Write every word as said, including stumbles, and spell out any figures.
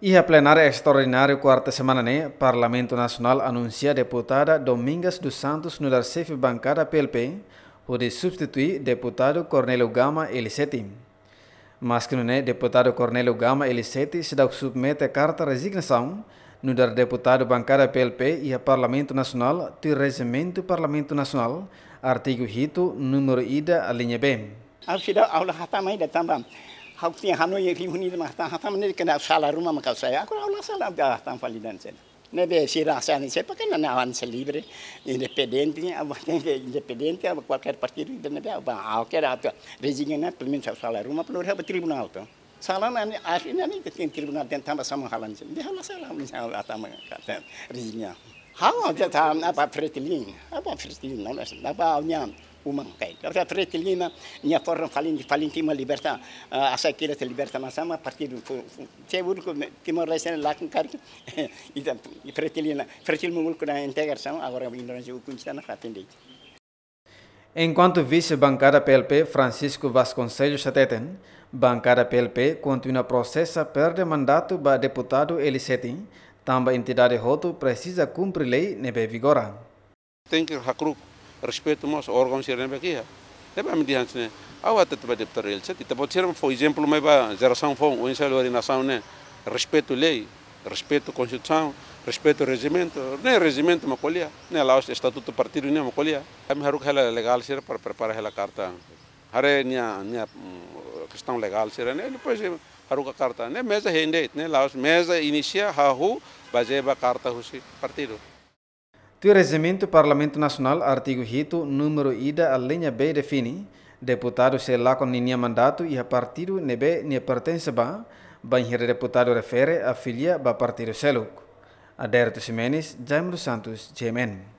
Iha plenária estraordinária kuarta semana ne'e, Parlamentu Nasionál anunsia deputada Domingas dos Santos nu'udar xefe bankada P L P, hodi substitui deputadu Cornélio Gama Eliseti. Maski nune'e, deputadu Cornélio Gama Eliseti seidauk submete karta rezignasaun nu'udar deputadu bankada P L P iha Parlamentu Nasionál, tuir Rejimentu Parlamentu Nasionál, artigu hitu, númeru ida, alínea B. Ha'u seidauk, ha'u la hatama ida tanba ha'u-nia hanoin reunidu mak hatama, hatama ne'e kena sala ruma mak ha'u sai. Ha'u, ha'u la sala, ha'u hatama fali de'it. Ne'ebé sira sai ne'e, se pakai na, na avansa livre, independente, ha'u tenke independente, ha'u kualkér partidu, ne'ebé ha'u, ha'u hakarak atu rezigna, pelumenus ha'u sala ruma, pelumenus ha'u ba tribunál to. Sala ne'e, ahi ne'e, ne'e ke tribunál dehan tanba sama halan se. Dehan la sala, misalnya hatama, katak rezigna. Ha'u, ha'u hatama ba Fretilin, ba Fretilin, na, na, ba nia uma karik. Ha'u hatama Fretilin, nia forma falin, falin Timor liberta, ah, asa kira te liberta na sama partidu fu, fu, se úniku Timor-Leste ne'e lakon karik. Ita, Fretilin, Fretilin mengulku na integrasaun, agora Indonézia ukun sana atende. Enkuantu vise bankada P L P, Francisco Vasconcelos hateten, bankada P L P kontinua prosesa perde mandatu ba deputadu Eliseti, tanba entidade hotu presiza kumpre lei ne'ebé vigora. Tenke hakru'uk respeitu mós órgaun sira ne'ebé iha. Ne'ebé ami dehan hanesan ne'e, ha'u hatete ba deputadu Eliseti, ita-boot sira fó ezemplu mai ba jerasaun foun, oinsá lori nasaun ne'e, respeitu lei, respeitu konstituisaun, respeitu rejimentu, ne'e rejimentu mak ko'alia, ne'e la'ós estatutu partidu nian mak ko'alia. Ami haruka hela legál sira para prepara hela karta. Haree nia, nia, mm, kestaun legál sira-ne'e, depois haruka karta. Ne'e meza hein de'it, ne'e la'ós meza inisia hahú bazeia ba karta husi partidu. Tuir Rejimentu Parlamentu Nasionál, artigu hitu, númeru ida, alínea B define, deputadu sei lakon ninia mandatu iha partidu ne'ebé nia pertense ba, bainhira deputadu refere afilia ba partidu seluk. Aderito Ximenes, Jaime dos Santos, G M N.